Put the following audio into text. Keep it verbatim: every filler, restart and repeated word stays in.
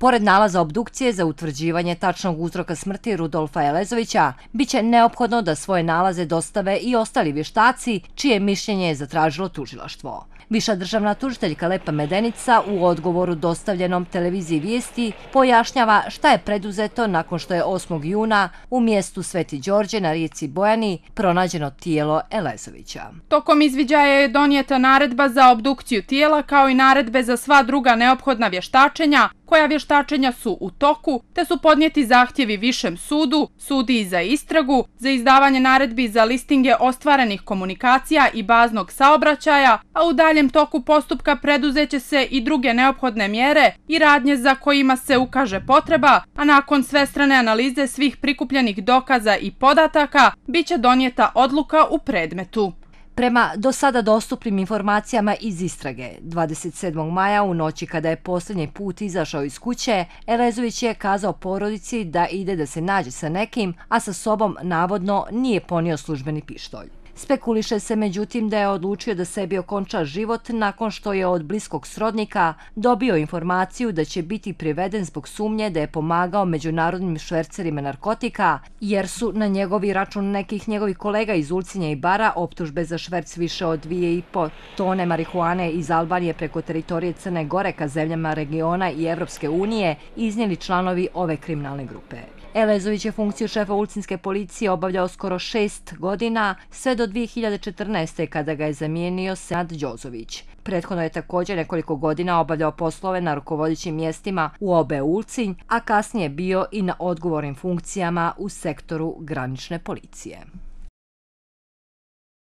Pored nalaza obdukcije za utvrđivanje tačnog uzroka smrti Rudolfa Elezovića, biće neophodno da svoje nalaze dostave i ostali vještaci, čije mišljenje je zatražilo tužilaštvo. Viša državna tužiteljka Lepa Medenica u odgovoru dostavljenom televiziji Vijesti pojašnjava šta je preduzeto nakon što je osmog juna u mjestu Sveti Đorđe na rijeci Bojani pronađeno tijelo Elezovića. Tokom izviđaja je donijeta naredba za obdukciju tijela kao i naredbe za sva druga neophodna vještačenja, koja vještačenja su u toku, te su podnijeti zahtjevi Višem sudu, sudiji za istragu, za izdavanje naredbi za listinge ostvarenih komunikacija i baznog saobraćaja, a u daljem toku postupka preduzeće se i druge neophodne mjere i radnje za kojima se ukaže potreba, a nakon svestrane analize svih prikupljenih dokaza i podataka, biće donijeta odluka u predmetu. Prema do sada dostupnim informacijama iz istrage, dvadeset sedmog maja u noći kada je posljednji put izašao iz kuće, Elezović je kazao porodici da ide da se nađe sa nekim, a sa sobom navodno nije ponio službeni pištolj. Spekuliše se međutim da je odlučio da sebi okonča život nakon što je od bliskog srodnika dobio informaciju da će biti priveden zbog sumnje da je pomagao međunarodnim švercerima narkotika, jer su na njegovi račun nekih njegovih kolega iz Ulcinja i Bara optužbe za šverc više od dvije i po tone marihuane iz Albanije preko teritorije Crne Gore ka zemljama regiona i Evropske unije iznijeli članovi ove kriminalne grupe. Elezović je funkciju šefa ulcinske policije obavljao skoro šest godina, sve do dvije hiljade četrnaeste. kada ga je zamijenio Senad Đozović. Prethodno je također nekoliko godina obavljao poslove na rukovodećim mjestima u O B Ulcinj, a kasnije bio i na odgovornim funkcijama u sektoru granične policije.